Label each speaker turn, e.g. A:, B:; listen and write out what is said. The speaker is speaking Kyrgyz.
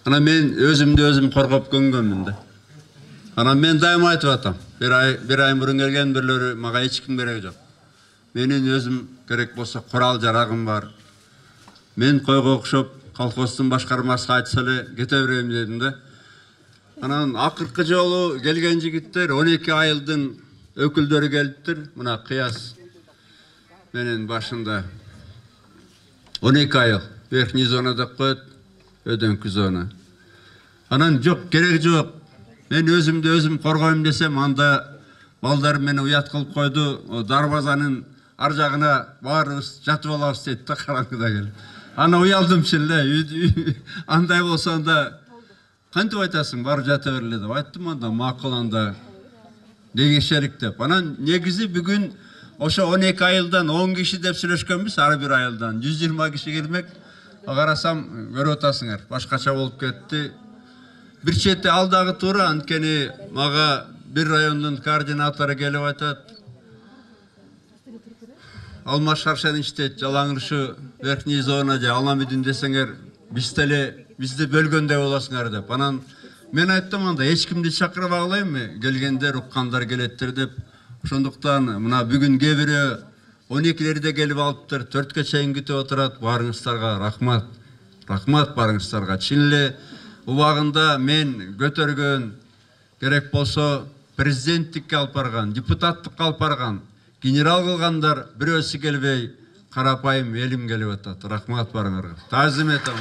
A: Анан мен өзүмдү өзүм коргоп көнгөнмүн да. Анан мен дайыма айтып атам. Bir ay murun kelgen birilери мага эч ким кереги жок. Менин өзүм керек болсо курал жарагым бар. Мен койго окшоп колхоздун башкармасына айтса эле кете берем дедим да. Анан акыркы жолу келген жигиттер 12 айылдын өкүлдөрү келиптир. Мына кыяс менин башында 12 айыл. Верхний зона деп коет, өдөңкү зона. Анан жок, кереги жок. Мен өзүмдү өзүм коргойм десем, анда балдар мени уят кылып койду. Дарбазанын ар жагына баарыбыз жатып алабыз дейт да караңгыда келип. Ана уялдым эле. Андай болсо анда кантип айтасың, барып жата берле деп айттым, анда макул, анда дегешелик деп. Анан негизи бүгүн ошо 12 айылдан 10 киши деп сүйлөшкөнбүз, ар бир айылдан 120 киши келмек. Карасам, көрүп атасыңар, башкача болуп кетти. Bir чети алдагы туура, анткени мага бир райондун координатору келип айтат. Алмаз Шаршенович дейт, жалаңыршы верхний зона же Аламидин десеңер, бизди бөлгөндөй болосуңар деп. Анан мен айттым, анда эч кимди чакырбагылайм, келгендер, уккандар келеттир деп. Ошондуктан мына бүгүн кээ бирөө 12-лерде келип алыптыр, 4-кө чейин күтүп отурат. Барыңыздарга рахмат. Рахмат барыңыздарга. Чын эле убагында мен көтөргөн, керек болсо президенттикке алып барган, депутаттыкка алып барган, генерал кылгандар бирөөсү келбей, карапайым элим келип атат. Рахмат барыңарга. Таазим этем.